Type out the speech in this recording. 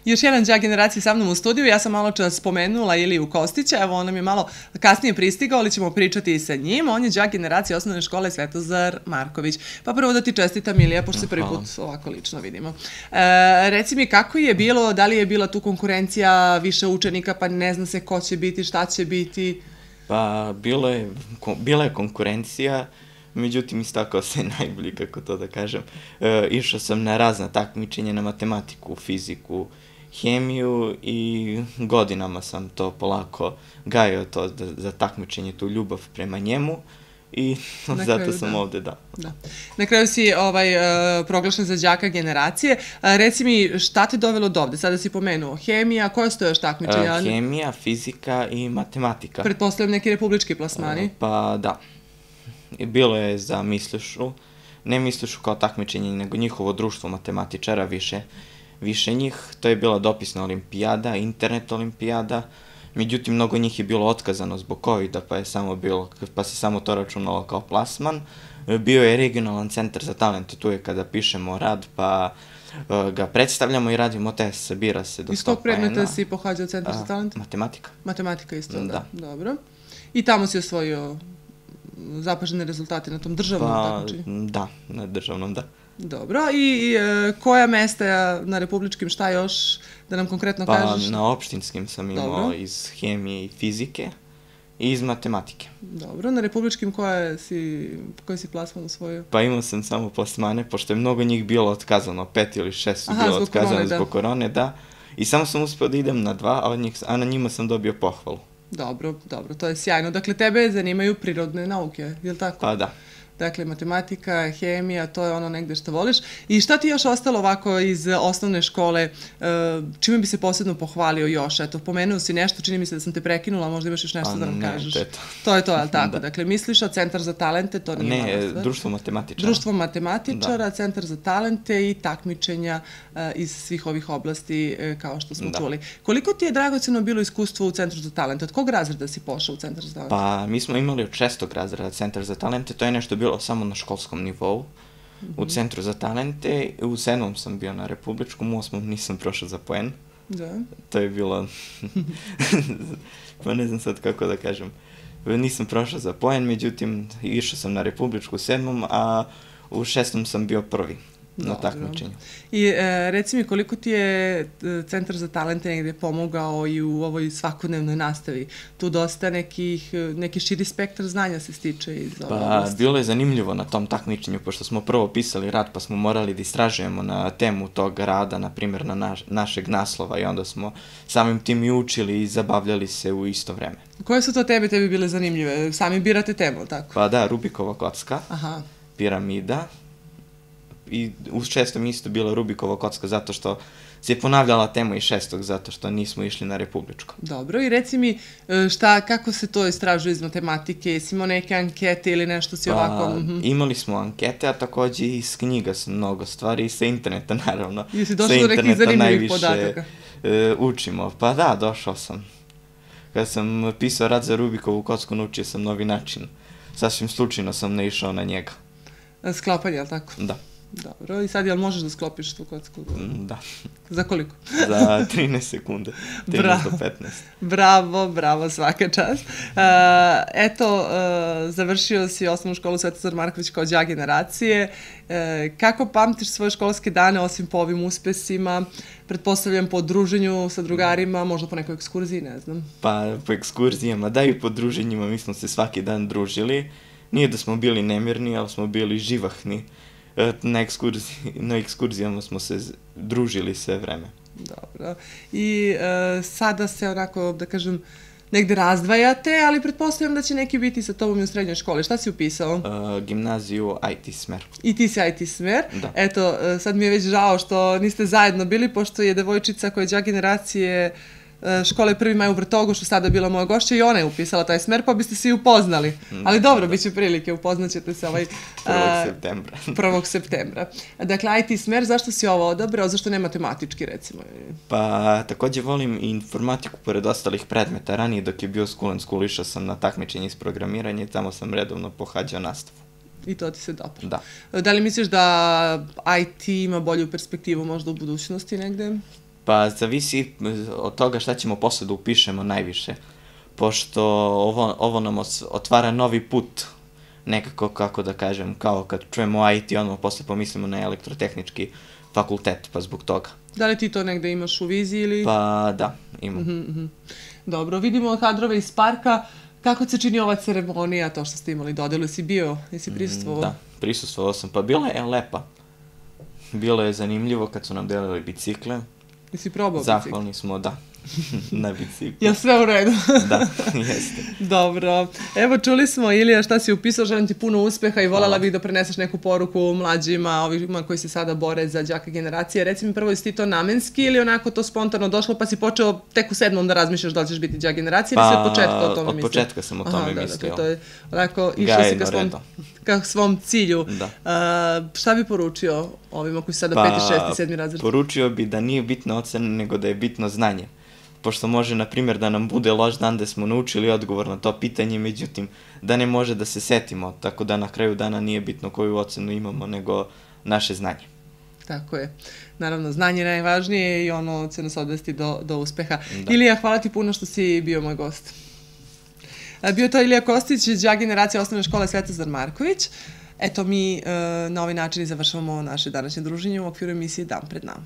Još jedan đak generacije sa mnom u studiju, ja sam malo čas spomenula Iliju Kostića, evo on nam je malo kasnije pristigao, ali ćemo pričati i sa njim. On je đak generacije osnovne škole Svetozar Marković. Pa prvo da ti čestitam, Ilija, pošto se prvi put ovako lično vidimo. Reci mi kako je bilo, da li je bila tu konkurencija više učenika, pa ne zna se ko će biti, šta će biti? Pa bila je konkurencija, međutim istakao se najbolji, kako to da kažem. Išao sam na razna takmičenja, na matematiku, fiziku, hemiju i godinama sam to polako gajio to za takmičenje, tu ljubav prema njemu i zato sam ovde, da. Na kraju si proglašen za đaka generacije. Reci mi, šta te dovelo do ovde? Sada si pomenuo hemija, koje su to još takmičenja? Hemija, fizika i matematika. Pretpostavljam neki republički plasmani? Pa da. Bilo je za Mislišu, ne Mislišu kao takmičenje, nego njihovo društvo matematičara, više njih. To je bila dopisna olimpijada, internet olimpijada, međutim mnogo njih je bilo otkazano zbog COVID-a, pa se samo to računalo kao plasman. Bio je regionalan centar za talente, tu je kada pišemo rad, pa ga predstavljamo i radimo test, sabira se do 100 poena. Iz tog predmeta si pohađao centar za talente? Matematika. Matematika isto, da. Dobro. I tamo si osvojio zapažene rezultate na tom državnom takmičenju? Da, na državnom, da. Dobro, i koja mesta na republičkim, šta još, da nam konkretno kažeš? Pa na opštinskim sam imao iz hemije i fizike i iz matematike. Dobro, na republičkim koji si plasman osvojio? Pa imao sam samo plasmane, pošto je mnogo njih bilo otkazano, 5 ili 6 su bilo otkazano zbog korone, da. I samo sam uspeo da idem na 2, a na njima sam dobio pohvalu. Dobro, to je sjajno. Dakle, tebe zanimaju prirodne nauke, je li tako? Pa da. Dakle, matematika, hemija, to je ono negde što voliš. I šta ti još ostalo ovako iz osnovne škole? Čime bi se posebno pohvalio još? Eto, pomenuo si nešto, čini mi se da sam te prekinula, možda imaš još nešto da nam kažeš. Ne, to je to. To je to, je li tako? Dakle, misliš, a Centar za talente, to nije mala stvar? Ne, društvo matematičara. Društvo matematičara, Centar za talente i takmičenja iz svih ovih oblasti, kao što smo čuli. Koliko ti je dragoceno bilo iskustvo u Centru za talente? Od kog razreda si pošao u Centar za talente? Pa, mi smo imali od 6. razreda Centar za talente, to je nešto bilo samo na školskom nivou, u Centru za talente. U 7. sam bio na republičkom, u 8. nisam prošao za poen. Da. To je bilo, pa ne znam sad kako da kažem, nisam prošao za poen, međutim išao sam na republičku u 7. a u 6. sam bio prvi na takmičenju. I reci mi, koliko ti je Centar za talente negde pomogao i u ovoj svakodnevnoj nastavi? Tu dosta neki širi spektar znanja se stiče iz ove oblasti. Pa, bilo je zanimljivo na tom takmičenju, pošto smo prvo pisali rad, pa smo morali da istražujemo na temu tog rada, na primjer na našeg naslova, i onda smo samim tim i učili i zabavljali se u isto vreme. Koje su to tebi bile zanimljive? Sami birate temu, tako? Pa da, Rubikova kocka, piramida, i u 6. isto bila Rubikova kocka, zato što se ponavljala tema iz 6. zato što nismo išli na republičko. Dobro, i reci mi kako se to istražuje iz matematike, jesi imao neke ankete ili nešto si ovako? Imali smo ankete, a takođe i iz knjiga sam mnogo stvari, i sa interneta naravno. Jesi došao do nekih zanimljivih podataka? Učimo, pa da, došao sam. Kada sam pisao rad za Rubikovu kocku, naučio sam novi način. Sasvim slučajno sam naišao na njega. Sklapanje, je li tako? Da. Dobro, i sad jel možeš da sklopiš tu kocku? Da. Za koliko? Za 13 sekunde, 13 do 15. Bravo, svaka čast. Eto, završio si osnovnu školu Svetozar Marković kao đak generacije. Kako pamtiš svoje školske dane, osim po ovim uspesima? Pretpostavljam po druženju sa drugarima, možda po nekoj ekskurziji, ne znam. Pa po ekskurzijama, da, i po druženjima, mi smo se svaki dan družili. Nije da smo bili nemirni, ali smo bili živahni. Na ekskurzijama smo se družili sve vreme. Dobro. I sada se onako, da kažem, negde razdvajate, ali pretpostavljam da će neki biti sa tobom i u srednjoj školi. Šta si upisao? Gimnaziju IT smer. I ti si IT smer? Da. Eto, sad mi je već žao što niste zajedno bili, pošto je devojčica koja je đak generacije škole 1. maj u Vrtogošu sada bila moja gošća i ona je upisala taj smer, pa biste se i upoznali. Ali dobro, bit će prilike, upoznaćete se 1. septembra. 1. septembra. Dakle, IT smer, zašto si ovo odabrao, zašto ne matematički, recimo? Pa, takođe volim i informatiku pored ostalih predmeta. Ranije, dok je bio School and School, išao sam na takmičenje iz programiranja i tamo sam redovno pohađao nastavu. I to ti se dobro. Da. Da li misliš da IT ima bolju perspektivu možda u budućnosti negde? Pa zavisi od toga šta ćemo posle da upišemo najviše, pošto ovo nam otvara novi put, nekako, kako da kažem, kao kad čujemo IT, ono posle pomislimo na elektrotehnički fakultet, pa zbog toga. Da li ti to negde imaš u viziji ili... Pa da, imam. Dobro, vidimo kadrove iz parka. Kako se čini ova ceremonija, to što ste imali dodelu? Jesi bio, jesi prisustvovao? Da, prisustvovao sam, pa bila je lepa. Bilo je zanimljivo kad su nam delili bicikle. Jesi probao bicikle? Zahvalni smo, da, na biciklu. Jel sve u redu? Da, jeste. Dobro. Evo, čuli smo, Ilija, šta si upisao, želim ti puno uspeha i voljela bih da preneseš neku poruku mlađima, ovima koji se sada bore za đaka generacije. Reci mi prvo, jesi ti to namenski ili onako to spontano došlo, pa si počeo tek u 7. da razmišljaš da li ćeš biti đak generacije ili si od početka o tome mislio? Od početka sam o tome mislio. Dakle, to je onako, išao si ka svom cilju. Šta bi poručio ovima koji su sada 5., 6., 7. razred? Poručio bi da nije bitna ocena, nego da je bitno znanje. Pošto može, na primjer, da nam bude loš dan da smo naučili odgovor na to pitanje, međutim, da ne može da se setimo, tako da na kraju dana nije bitno koju ocenu imamo, nego naše znanje. Tako je. Naravno, znanje je najvažnije i ono će nas odvesti do uspeha. Ilija, hvala ti puno što si bio moj gost. Bio to Ilija Kostić, đak generacije osnovne škole Svetozar Marković. Eto, mi na ovaj način završavamo naše današnje druženje u okviru emisije Dan pred nama.